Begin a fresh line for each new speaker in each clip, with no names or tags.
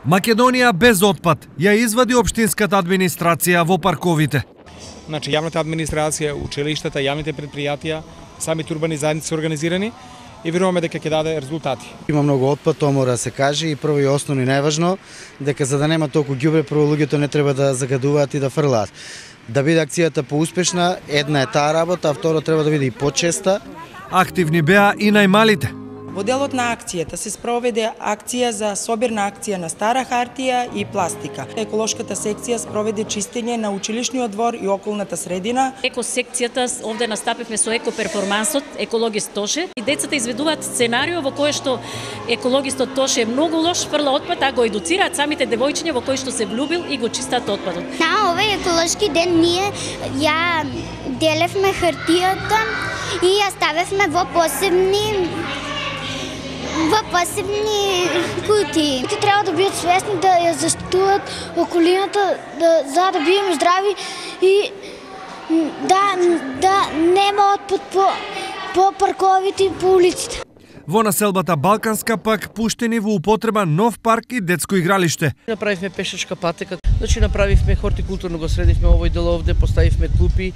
Македонија без отпад ја извади општинската администрација во парковите.
Значи, јавната администрација, училиштата, јавните предпријатија, самите урбани заедници се организирани и веруваме дека ќе даде резултати.
Има многу отпад, тоа мора да се каже, и прво и основно и најважно, дека за да нема толку ѓубре, прво луѓето не треба да загадуваат и да фрлаат. Да биде акцијата поуспешна, една е таа работа, а второ треба да биде и почеста.
Активни беа и најмалите.
Во делот на акцијата се спроведе акција за собирна акција на стара хартија и пластика. Еколошката секција спроведе чистење на училишниот двор и околната средина.
Екосекцијата овде настапивме со екоперформансот Екологист Тоше и децата изведуваат сценарио во кое што екологистот Тоше е многу лош, фрла отпад, а го едуцираат самите девојчиња во кои што се влюбил и го чистат отпадот.
На овој еколошки ден ние ја делевме хартијата и ја ставевме во посебни кутии. Треба да бидат свесни да ја заштитуваат околината, за да бидеме здрави и да нема отпад по парковите и по улиците.
Во населбата Балканска пак пуштени во употреба нов парк и детско игралиште.
Направивме пешачка патека, значи направивме хортикултурно, го средивме овој дел овде, поставивме клупи.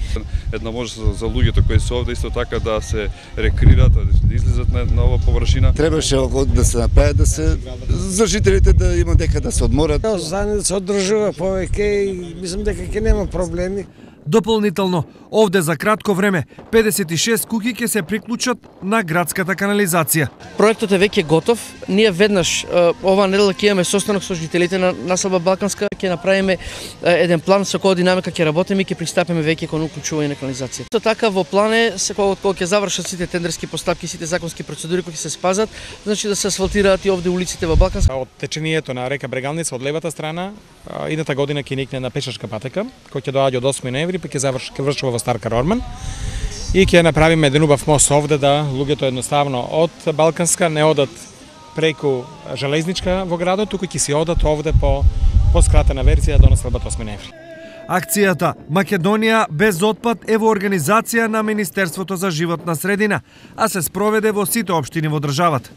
Една може за луѓето кои се овде исто така да се рекреираат, да излезат на ова површина.
Требаше да се направи, да се за жителите да има дека да се одморат.
Заедница се одржува повеќе и мислам дека ќе нема проблеми.
Дополнително, овде за кратко време 56 куќи ќе се приклучат на градската канализација.
Проектот е веќе готов. Ние веднаш оваа недела ќе имаме состанок со жителите на населба Балканска, ќе направиме еден план со која динамика ќе работиме и ќе пристапиме веќе кон уклучување на канализација. Со така во план е кога ќе завршат сите тендерски постапки, сите законски процедури кои ќе се спазат, значи да се асфалтираат и овде улиците во Балканска.
Од течението на река Брегалница од левата страна, идната година ќе никне на пешачка патека, кој ќе доаѓа од 8 ноември, па ќе завршува во Стар Карорман и ќе направиме еден убав мост овде да луѓето едноставно од Балканска не одат преку железничка во градот, туку ќе си одат овде по скратена верзија до населбата 8 ноември.
Акцијата Македонија без отпад е во организација на Министерството за животна средина, а се спроведе во сите општини во државата.